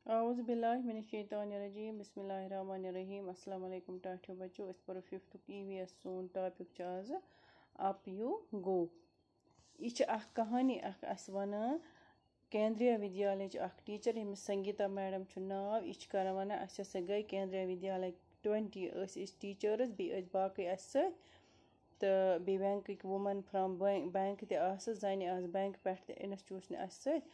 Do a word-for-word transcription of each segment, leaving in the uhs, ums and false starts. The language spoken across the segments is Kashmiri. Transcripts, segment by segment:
اعوذ باللہ من الشیطان الرجیم، بسم اللہ الرحمن الرحیم۔ السلام علیکم ٹاٹھیو بچو، أسۍ پرو ففتھُک ای وی ایس۔ سون ٹاپک چھُ آز اپ یو گو۔ یہِ چھِ اکھ کہانی اکھ اَسہِ وَنان۔ کیندریا ودیالیہ چھِ اکھ ٹیچر، ییٚمِس سنگیتا میڈم چھُ ناو۔ یہِ چھِ کران وَنان، اَسہِ ہسا گٔے کیندریا ودیالیہ ٹوینٹی، ٲسۍ أسۍ ٹیچرس، بیٚیہِ ٲسۍ باقٕے اَسہِ سۭتۍ تہٕ بیٚیہِ بینکٕکۍ وومن فرام بینک تہِ آسہٕ، زَنہِ آسہٕ بینک پٮ۪ٹھ تہِ انسٹیٹیوشن اَسہِ سۭتۍ۔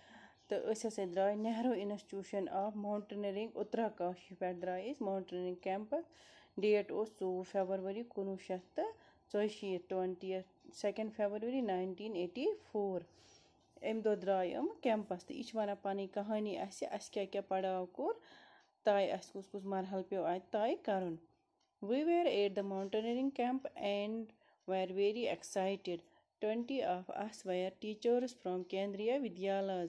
تہٕ أسۍ ہسا درٛاے نہروٗ انسٹیٹیوشن آف ماؤنٹینئرنگ، اتراکاشی پٮ۪ٹھ درٛاے أسۍ ماؤنٹینئرنگ کیمپس۔ ڈیٹ اوس ژوٚوُہ فیبرؤری کُنوُہ شیٚتھ تہٕ ژۄیہِ شیٖتھ، twenty second February nineteen eighty four. اَمہِ دۄہ درٛاے یِم کیمپس تہٕ یہِ چھِ وَنان پَنٕنۍ کہانی اَسہِ، اَسہِ کیٛاہ کیٛاہ پڑاو کوٚر، طے اَسہِ کُس کُس مرحلہٕ پیوٚو اَتہِ طے کَرُن۔ We were at the mountaineering camp and were very excited. Twenty of us were teachers from Kendriya Vidyalayas.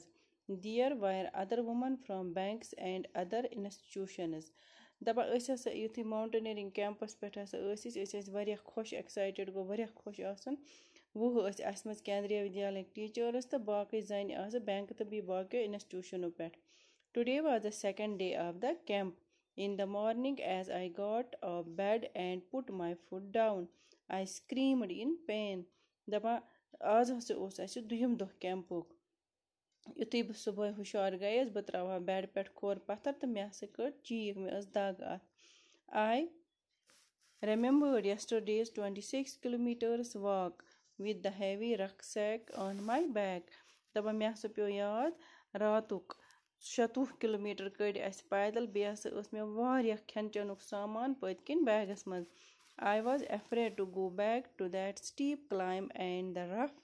There were other women from banks and other institutions. دَپان ٲسۍ ہسا یُتھُے ماؤنٹینئرنگ کیمپس پٮ۪ٹھ ہسا ٲسۍ أسۍ، أسۍ ٲسۍ واریاہ خۄش، ایکسایٹڈ گوٚو واریاہ خۄش آسُن۔ وُہ ٲسۍ اَسہِ منٛز کیندریا ودیالیہ ٹیچرس تہٕ باقٕے زَنہِ آسہٕ بینک تہٕ بیٚیہِ باقیو انسٹیٹیوشنو پٮ۪ٹھ۔ Today was the second day of the camp. In the morning, as I got up bed and put my foot down, I screamed in pain. دَپان، آز ہسا اوس اَسہِ دوٚیِم دۄہ کیمپُک۔ یُتھُے بہٕ صُبحٲے ہُشار گٔیَس، بہٕ ترٛاوہا بیڈ پٮ۪ٹھ کھۄر پَتھر تہٕ مےٚ ہسا کٔڈ چیٖک، مےٚ ٲس دَگ اَتھ۔ I remembered yesterday's twenty-six kilometers walk with the heavy rucksack on my back. دَپان، مےٚ ہسا پیوٚو یاد راتُک شَتوُہ کِلوٗ میٖٹر کٔڑۍ اَسہِ پیدل، بیٚیہِ ہسا ٲس مےٚ واریاہ کھٮ۪ن چٮ۪نُک سامان پٔتۍ کِنۍ بیگَس منٛز۔ I was afraid to go back to that steep climb and the rough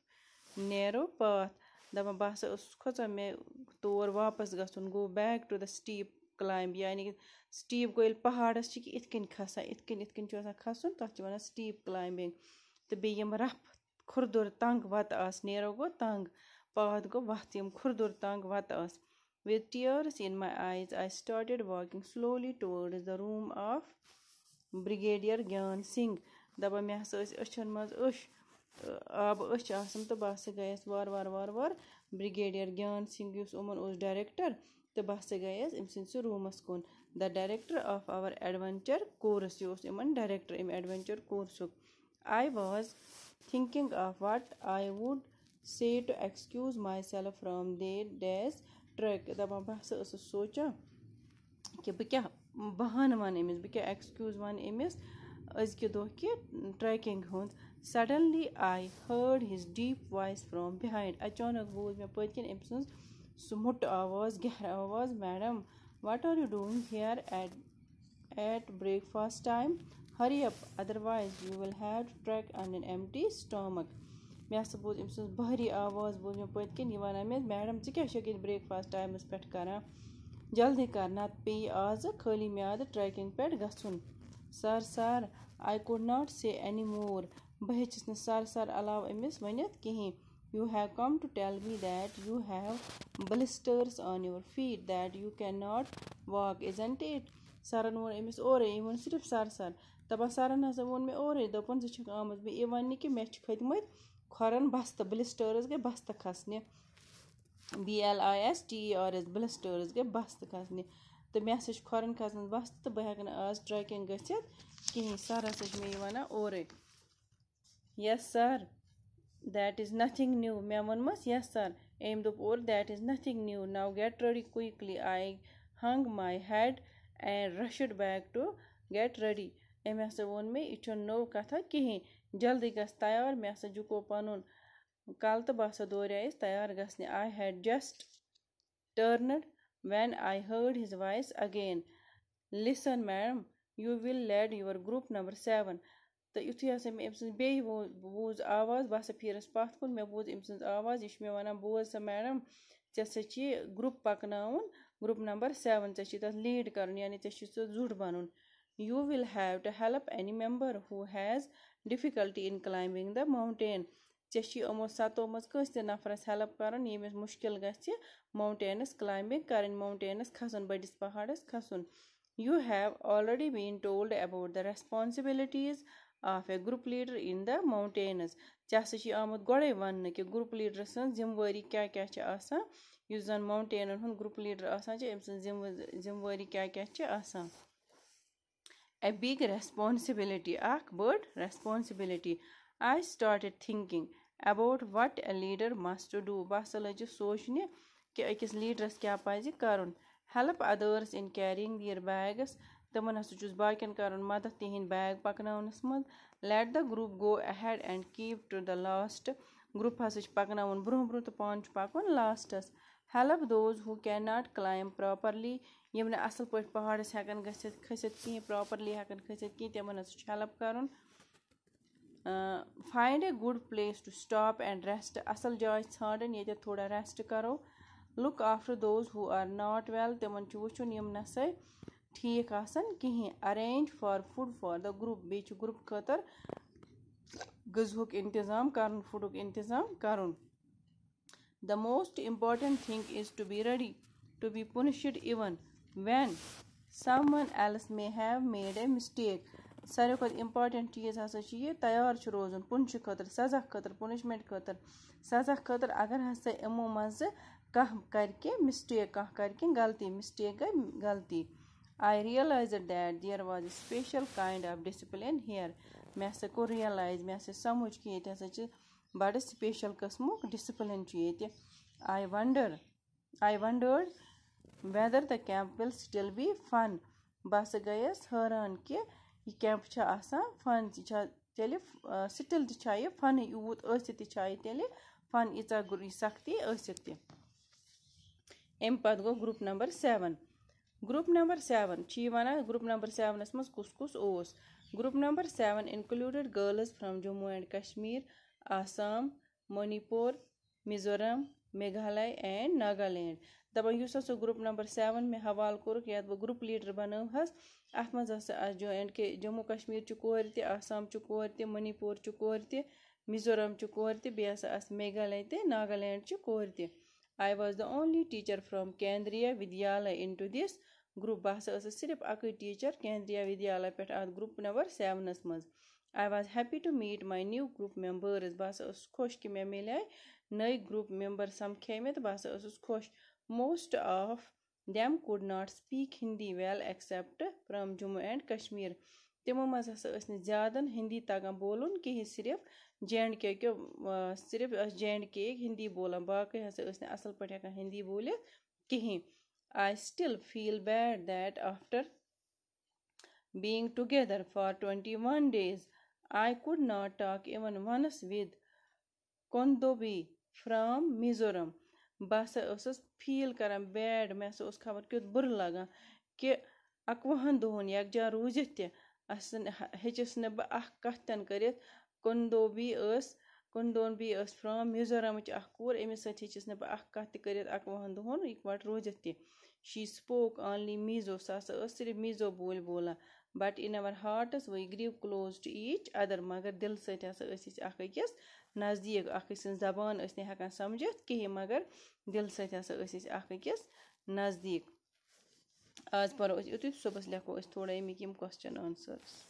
narrow path. دَپان، بہٕ ہسا ٲسٕس کھوژان مےٚ تور واپَس گژھُن۔ Go back to the steep climb، یعنی کہِ سٹیپ گوٚو ییٚلہِ پہاڑَس چھِ کہِ یِتھ کٔنۍ کھسان، یِتھ کٔنۍ، یِتھ کٔنۍ چھُ آسان کھسُن، تَتھ چھِ وَنان سٹیپ کلایمبنگ۔ تہٕ بیٚیہِ یِم رَف کھُردُر تنگ وَتہٕ آسہٕ، نیرو گوٚو تنگ، پاتھ گوٚو وَتھ، یِم کھُردُر تنگ وَتہٕ آسہٕ۔ With tears in my eyes, I started walking slowly towards the room of Brigadier Gyan Singh۔ دَپان، مےٚ ہسا ٲسۍ أچھن منٛز أچھ، آبہٕ أچھ آسان، تہٕ بہٕ ہسا گٔیَس وارٕ وارٕ وارٕ وارٕ بریگیڈیئر گیان سنگھ، یُس یِمَن اوس ڈائریکٹر، تہٕ بہٕ ہسا گٔیَس أمۍ سٕنٛدِ سُہ روٗمَس کُن۔ The director of our adventure course، یہِ اوس یِمَن ڈائریکٹر اَمہِ adventure کورسُک۔ I was thinking of what I would say to excuse myself from that day's trek۔ دَپان، بہٕ ہسا ٲسٕس سونٛچان کہِ بہٕ کیٛاہ بہانہٕ وَنہٕ أمِس، بہٕ کیٛاہ ایکسکیوز وَنہٕ أمِس أزکہِ دۄہ کہِ ٹریکنگ ہُنٛد۔ Suddenly I heard his deep voice from behind۔ اچانک بوٗز مےٚ پٔتۍ کِنۍ أمۍ سٕنٛز سُہ موٚٹ آواز، گہرٕ آواز، "Madam, what are you doing here at at breakfast time? Hurry up, otherwise you will have to trek on an empty stomach." مےٚ ہسا بوٗز أمۍ سٕنٛز بھاری آواز، بوٗز مےٚ پٔتۍ کِنۍ یہِ وَنان مےٚ، "میڈم، ژٕ کیٛاہ چھَکھ ییٚتہِ بریکفاسٹ ٹایمَس پٮ۪ٹھ کران؟ جلدی کر، نَتہٕ پیٚیہِ آزٕ خٲلی میادٕ ٹریکنگ پٮ۪ٹھ گژھُن۔" Sir, sir, I could not say any more. بہٕ ہیٚچِس نہٕ سر سر علاوٕ أمِس ؤنِتھ کِہیٖنۍ۔ You have come to tell me that you have blisters on your feet, that you cannot walk, isn't it? سرن ووٚن أمِس اورَے، أمۍ ووٚن صرف سر سر۔ دَپان، سرن ہسا ووٚن مےٚ اورَے، دوٚپُن، "ژٕ چھَکھ آمٕژ مےٚ یہِ وَننہِ کہِ مےٚ چھِ کھٔتۍ مٕتۍ کھۄرَن بستہٕ، blisters گٔے بستہٕ کھسنہِ، B L I S T E R S، blisters گٔے بستہٕ کھسنہِ، تہٕ مےٚ ہسا چھِ کھۄرَن کھسان بستہٕ تہٕ بہٕ ہٮ۪کہٕ نہٕ آز ٹریکنگ گٔژھِتھ کِہیٖنۍ۔ سر ہسا چھِ مےٚ یہِ وَنان اورَے۔" "Yes, sir, that is nothing new." مےٚ ووٚنمَس، "Yes, sir." أمۍ دوٚپ اورٕ، "That is nothing new. Now get ready quickly." I hung my head and rushed back to get ready. أمۍ ہسا ووٚن مےٚ، "یہِ چھُنہٕ نٔو کَتھا کِہیٖنۍ، جلدی گژھ تیار۔" مےٚ ہسا جُکو پَنُن کَلہٕ تہٕ بہٕ ہسا دوریایَس تیار گژھنہِ۔ I had just turned when I heard his voice again. "Listen, madam, you will lead your group number seven." تہٕ یُتھُے ہسا مےٚ أمۍ سٕنٛز بیٚیہِ وو-، بوٗز آواز، بہٕ ہسا پھیٖرٕس پَتھ کُن، مےٚ بوٗز أمۍ سٕنٛز آواز، یہِ چھِ مےٚ وَنان، "بوز سا میڈم، ژےٚ ہسا چھِ یہِ گرُپ پَکناوُن، گرُپ نمبر سیوَن، ژےٚ چھِ تَتھ لیٖڈ کَرُن، یعنی ژےٚ چھِ سُہ زُٹھ بَنُن۔ You will have to help any member who has difficulty in climbing the mountain." ژےٚ چھِ یِمو سَتو منٛز کٲنٛسہِ تہِ نفرَس ہیلپ کَرُن، ییٚمِس مُشکِل گژھِ ماؤنٹینَس کلایمبنگ کَرٕنۍ، ماؤنٹینَس کھسُن، بٔڑِس پہاڑَس کھسُن۔ You have already been told about the responsibilities of a group leader in the mountains. ژےٚ ہسا چھِ آمُت گۄڈَے وَننہٕ کہِ گرُپ لیٖڈر سٕنٛز ذِمہٕ وٲری کیٛاہ کیٛاہ چھِ آسان۔ یُس زَن ماؤنٹینَن ہُنٛد گروپ لیڈر آسان چھِ، أمۍ سٕنٛز ذمہٕ ذمہٕ وٲری کیٛاہ کیٛاہ چھِ آسان؟ A big responsibility، اکھ بٔڑ responsibility. I started thinking about what a leader must do. بہٕ ہسا لٔجِس سونٛچنہِ کہِ أکِس لیڈرَس کیٛاہ پَزِ کَرُن. Help others in carrying their bags. تِمَن ہسا چھُس باقیَن کَرُن مدد تِہِنٛدۍ بیگ پَکناونَس منٛز. Let the group go ahead and keep to the last. Group ہسا چھُ پَکناوُن برٛونٛہہ برٛونٛہہ تہٕ پانہٕ چھُ پَکُن لاسٹَس. Help those who cannot climb properly. یِم نہٕ اَصٕل پٲٹھۍ پہاڑَس ہٮ۪کَن گٔژھِتھ، کھٔسِتھ کِہیٖنۍ، پراپرلی ہٮ۪کَن کھٔسِتھ کِہیٖنۍ، تِمَن ہسا چھُ ہیلپ کَرُن. Find a good place to stop and rest. اَصٕل جاے ژھانٛڈٕنۍ، ییٚتٮ۪تھ تھوڑا ریسٹ کَرو. Look after those who are not well. تِمَن چھُ وٕچھُن یِم نہ سا ٹھیٖک آسَن کِہیٖنۍ. Arrange for food for the group. بیٚیہِ چھُ گروپ خٲطرٕ غذہُک انتظام کَرُن، فوڈُک انتظام کَرُن. The most important thing is to be ready to be punished even when someone else may have made a mistake. ساروی کھۄتہٕ امپارٹنٹ چیٖز ہسا چھُ یہِ، تیار چھُ روزُن پُنشہِ خٲطرٕ، سزا خٲطرٕ، پُنشمنٹ خٲطرٕ، سزا خٲطرٕ، اگر ہسا یِمو منٛزٕ کانٛہہ کرِ کینٛہہ مسٹیک، کانٛہہ کرِ کینٛہہ غلطی، مسٹیک گٔے غلطی. I realized that there was a special kind of discipline here. مےٚ ہسا کوٚر ریئلایز، مےٚ ہسا سمجھ کہِ ییٚتہِ ہسا چھِ بڑٕ سپیشل قٕسمُک ڈسپلن چھُ ییٚتہِ. I wonder, I wondered whether the camp will still be fun. بہٕ ہسا گٔیَس حٲران کہِ یہِ کیمپ چھا آسان فن، یہِ چھا تیٚلہِ سٹل تہِ چھا یہِ فنٕے یوٗت ٲسِتھ تہِ چھا یہِ تیٚلہِ فن، ییٖژاہ گُر-، یہِ سختی ٲسِتھ تہِ. اَمہِ پتہٕ گوٚو group number seven. Group number seven چھِ یہِ وَنان، گروپ نمبر سیونَس منٛز کُس کُس اوس؟ Group number seven included girls from Jammu and Kashmir, Assam, Manipur, Mizoram, Meghalaya and Nagaland. دَپان یُس ہسا گروپ نمبر سیون مےٚ حوالہٕ کوٚرُکھ، یَتھ بہٕ گروپ لیڈر بنٲوہَس، اَتھ منٛز ہسا آسہٕ جو اینڈ کے، جموں کشمیر چہِ کورِ تہِ، آسام چہِ کورِ تہِ، منی پور چہِ کورِ تہِ، میزورام چہِ کورِ تہِ، بیٚیہِ ہسا آسہٕ میگھالیہ تہِ، ناگالینڈ چہِ کورِ تہِ. I was the only teacher from Kendriya Vidyalaya into this group. بہٕ ہسا ٲسٕس صرف اَکٕے ٹیٖچر کیندریا ودیالیہ پٮ۪ٹھ اَتھ گروپ نمبر سیونَس منٛز. I was happy to meet my new group members. بہٕ ہسا ٲسٕس خۄش کہِ مےٚ میلے نٔے گروپ ممبر سمکھے مےٚ، تہٕ بہٕ ہسا ٲسٕس خۄش. Most of them could not speak Hindi well except from Jammu and Kashmir. تِمو منٛز ہسا ٲسۍ نہٕ زیادَن ہِندی تَگان بولُن کِہیٖنۍ، صرف جے اینڈ کے کیو، آ، صرف ٲسۍ جے اینڈ کے ہِندی بولان، باقٕے ہسا ٲسۍ نہٕ اَصٕل پٲٹھۍ ہٮ۪کان ہِندی بوٗلِتھ کِہیٖنۍ. I still feel bad that after being together for twenty-one days, I could not talk even once with Kondobi from Mizoram. بہٕ ہسا ٲسٕس فیٖل کران بیڈ، مےٚ ہسا اوس خبر کیُتھ بُرٕ لگان کہِ اَکوُہَن دۄہَن یَکجاہ روٗزِتھ تہِ اَسہِ نہٕ، ہیٚچِس نہٕ بہٕ اَکھ کَتھ تہِ نہٕ کٔرِتھ. کُندوبی ٲس، کُندوبی ٲس فرام میزورامٕچ اَکھ کوٗر، أمِس سۭتۍ ہیٚچِس نہٕ بہٕ اَکھ کَتھ تہِ کٔرِتھ اَکوُہَن دۄہَن یِکوَٹہٕ روٗزِتھ تہِ. She spoke only Mizo، سۄ ہسا ٲس صرف میٖزو بوٗلۍ بولان. But in our hearts we grew close to each other. مگر دِلہٕ سۭتۍ ہسا ٲسۍ أسۍ اَکھ أکِس نزدیٖک، اَکھ أکۍ سٕنٛز زبان ٲسۍ نہٕ ہٮ۪کان سَمجِتھ کِہیٖنۍ، مگر دِلہٕ سۭتۍ ہسا ٲسۍ أسۍ اَکھ أکِس نزدیٖک. آز پَرو أسۍ یُتُے، صُبحَس لیکھو أسۍ تھوڑا اَمِکۍ یِم question answers.